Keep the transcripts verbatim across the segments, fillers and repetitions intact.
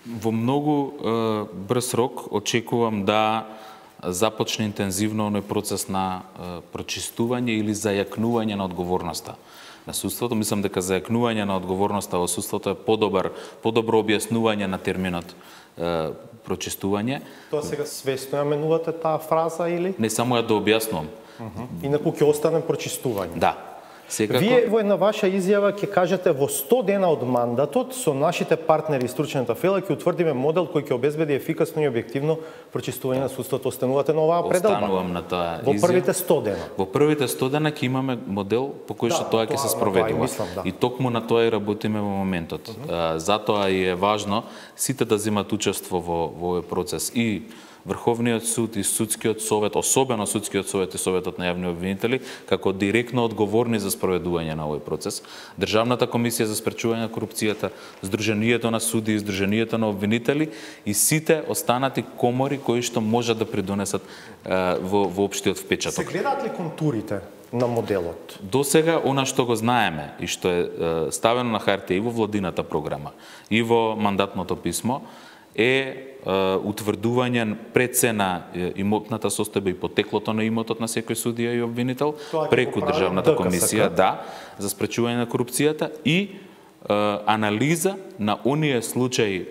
Во многу е, брз рок очекувам да започне интензивно оној процес на е, прочистување или зајакнување на одговорноста на судството. Мислам дека зајакнување на одговорноста во судството е подобар, подобро објаснување на терминот е, прочистување. Тоа сега свесно ја менувате таа фраза или? Не само ја да објаснувам. Uh -huh. Инаку ќе остане прочистување. Да. Секако... Вие во една ваша изјава ќе кажете во сто дена од мандатот со нашите партнери и стручната фела ќе утврдиме модел кој ќе обезбеди ефикасно и објективно прочистување на судството. Останувате на оваа пределба? Останувам на таа изјава. Во првите сто дена? Во првите сто дена ќе имаме модел по кој што да, тоа ќе се спроведува. Мислам, да. И токму на тоа и работиме во моментот. Uh -huh. Затоа и е важно сите да земат учество во, во овој процес. И Врховниот суд и судскиот совет, особено судскиот совет и советот на јавни обвинители, како директно одговорни за спроведување на овој процес, Државната комисија за спречување на корупцијата, Сдруженијето на суди и Сдруженијето на обвинители и сите останати комори кои што можат да придонесат е, во, во општиот впечаток. Се гледаат ли контурите на моделот? До сега, она што го знаеме и што е, е ставено на хартија и во владината програма, и во мандатното писмо, е утврдување прецена имотната состојба и потеклото на имотот на секој судија и обвинител преку Државната комисија, да, за спречување на корупцијата и е, анализа на оние случаи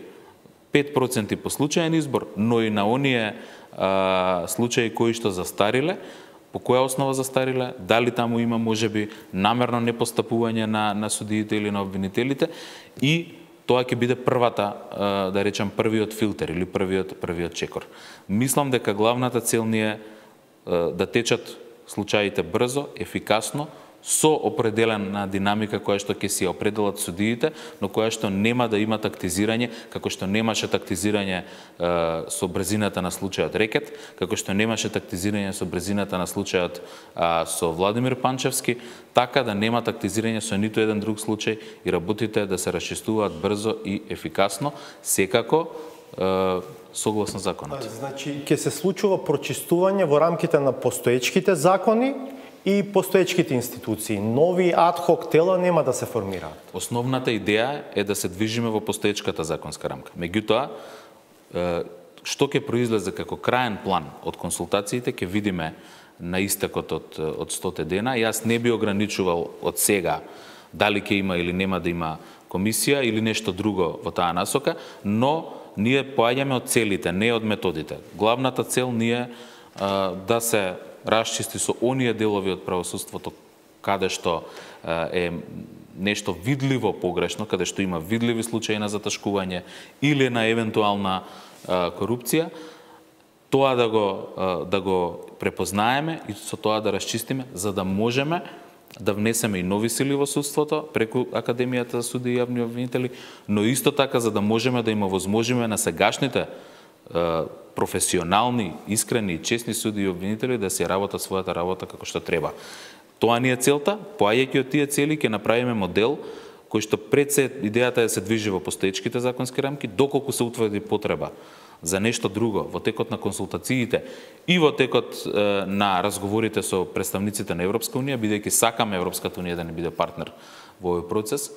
пет проценти по случаен избор, но и на оние е, случаи кои што застариле, по која основа застариле, дали таму има можеби намерно непостапување на на судиите или на обвинителите и тоа ќе биде првата, да речем, првиот филтер или првиот првиот чекор. Мислам дека главната цел ни е да течат случаите брзо, ефикасно, со определена динамика која што ќе си определат судиите, но која што нема да има тактизирање, како што немаше тактизирање е, со брзината на случајот Рекет, како што немаше тактизирање со брзината на случајот а, со Владимир Панчевски, така да нема тактизирање со ниту еден друг случај и работите да се расчистуваат брзо и ефикасно, секако е, согласно законот. Значи, ќе се случува прочистување во рамките на постоечките закони и постоечките институции. Нови адхок тела нема да се формираат. Основната идеја е да се движиме во постоечката законска рамка. Меѓутоа, што ќе произлезе како краен план од консултациите ќе видиме на истекот од, од сто дена. Јас не би ограничувал од сега дали ќе има или нема да има комисија или нешто друго во таа насока, но ние поаѓаме од целите, не од методите. Главната цел ни е да се расчисти со оние делови од правосудството каде што е нешто видливо погрешно, каде што има видливи случаи на заташкување или на евентуална корупција, тоа да го да го препознаеме и со тоа да расчистиме за да можеме да внесеме и нови сили во судството преку Академијата за суди и јавни обвинители, но исто така за да можеме да им овозможиме на сегашните професионални, искрени и честни суди и обвинители да се работат својата работа како што треба. Тоа ни е целта, поаѓајќи од тие цели ќе направиме модел кој што пред се идејата е да се движи во постоечките законски рамки, доколку се утврди потреба за нешто друго во текот на консултациите и во текот е, на разговорите со представниците на Европска унија, бидејќи сакаме Европската унија да не биде партнер во овој процес,